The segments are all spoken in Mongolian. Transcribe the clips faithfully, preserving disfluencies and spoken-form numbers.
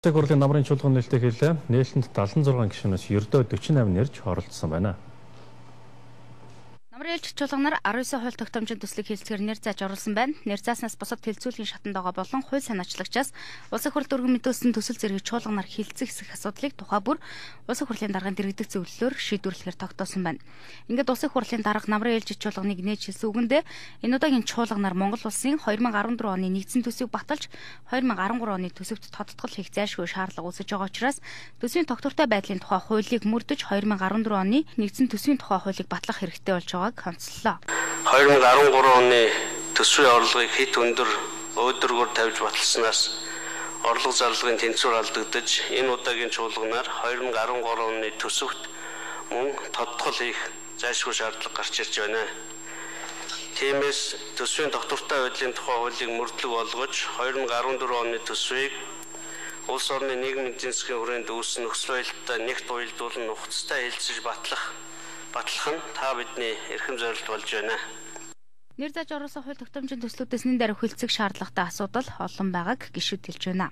Улсын хурлын намрын чуулган нээлттэй хэлээ. Нээлтэнд далсан зургаан гишүүнээс ердөө дөрвөн и восемь нэрж оролцсон байна. Намрын ээлж чуулганаар арван девять хууль тогтоомжийн төслийг хэлцгээр нэр зааж оруулсан байна. Нэр зааснаас бусад хэлцүүлгийн шатанд байгаа болон хууль санаачлагчаас улсын хурлд өргөн мэдүүлсэн төсөл зэргийг чуулганаар хилцэх хэсэг асуудлыг тухай бүр улсын хурлын дарганд дэргэдэг зөвлөлөөр шийдвэрлэхээр тогтоосон байна. Ингээд улсын хурлын дарга намрын ээлж чуулганыг нээж хэлсэн үгэндээ энэ удаагийн чуулганаар Монгол улсын две тысячи дөрвөн оны нэгдсэн төсвийг баталж две тысячи дөрвөн оны төсөвт тодтгол хийх зайлшгүй шаардлага үүсэж байгаа учраас төсвийн тогтвортой байдлын тухай хуулийг мөрдөж две тысячи дөрвөн оны нэгдсэн төсвийн тухай хуулийг батлах хэрэгтэй болж байгааг онцлоо. две тысячи дөрвөн оны төсвийн орлогыг хэд өндөр өөдрөгөөр тавьж баталснаас орлого зарлагын тэнцвэр алдагдаж энэ удаагийн чуулганаар две тысячи дөрвөн оны төсөвт мөн тодтгол хийх зайлшгүй шаардлага гарч ирж байна. Тиймээс төсвийн тогтвортой байдлын тухай хуулийг мөрдлөг болгож две тысячи дөрвөн оны төсвийг улс орны нийгмийн эдийн засгийн хүрээнд үүссэн нөхцөл байдалтай нэгт уялдуулан нухацтай хэлэлцэж батлах батлах нь та бидний эрхэм зорилт болж байна. Нэр зааж оруулсан хууль тогтоомжийн төслүүдээс нэн даруй хилцэх шаардлагатай асуудал олон байгааг гишүүд хэлж байна.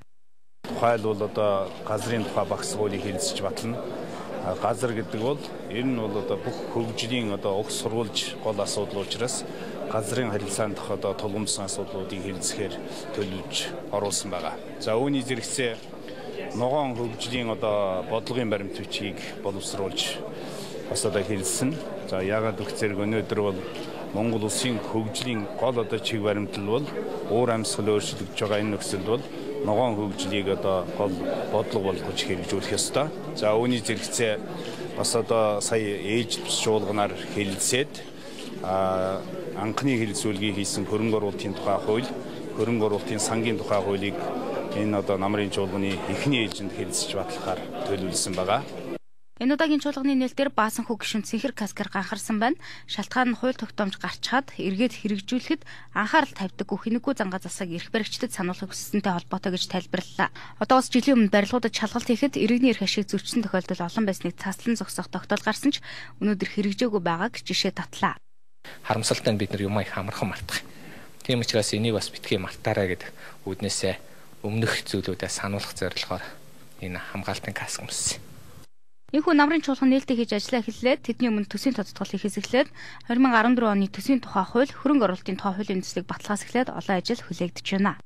Тухайл бол одоо газрын тухай багц хуулийг хэлэлцэж батлана. Газар гэдэг бол ер нь бол одоо бүх хөгжлийн одоо уг сурвалж гол асуудал учраас газрын харилцаанд дах одоо тулгымдсан асуудлуудыг хэлэлцэхээр төлөвлөж оруулсан байгаа. За үүний зэрэгцээ ногоон хөгжлийн одоо бодлогын баримт бичгийг боловсруулж бас одоо хэлсэн. За яагаад гэвэл өнөөдөр бол Монгол улсын хөгжлийн гол одоо чиг баримтал бол уур амьсгал өөрчлөгдөж байгаа энэ нөхцөлд бол ногоон хөгжлийг одоо гол бодлого болгож хэрэгжүүлэх ёстой. За үүний зэрэгцээ бас одоо сая ээлж чуулганаар хэлэлцээд а анхны хэлэлцүүлгийг хийсэн хөрөнгө оруулалтын тухай хууль, хөрөнгө оруулалтын сангийн тухай хуулийг энэ одоо намрын чуулганы эхний ээлжинд хэлэлцэж батлахаар төлөвлөсөн байгаа. Энэ удаагийн чуулганы нээлтээр баасан хүү гишүүн Цэнхэр Каскар ганхарсан байна. Шалтгаан нь хууль тогтоомж гарчхад эргээд хэрэгжүүлэхэд анхаарал тавьдаггүй хинэггүй зангаа засаг эрх баригчдад сануулгыг хүссэнтэй холбоотой гэж тайлбарлалаа. Одоо бас жилийн өмнө барилгуудад шалгалт хийхэд иргэний эрх ашиг зөрчсөн тохиолдол олон байсныг цааслан зогсоох тогтоол гарсан ч өнөөдөр хэрэгжээгүй байгааг жишээ татлаа. Харамсалтай нь бид нар юм их амархан мартах. Тийм учраас энийг бас битгий мартаарай гэдэг үүднээсээ өмнөх зүйлүүдэд сануулгах зорилгоор энэ хамгаалтын каск өмссөн. Энэхүү намрын чуулган нээлттэй хийж ажиллаа эхэллээд тэдний өмнө төсвийн тодтгол хийхээс эхлээд две тысячи дөрвөн оны төсвийн тухай хууль, хөрөнгө оруулалтын тухай хуулийн төслийг баталгаас эхлээд олон ажил хүлээгдэж байна.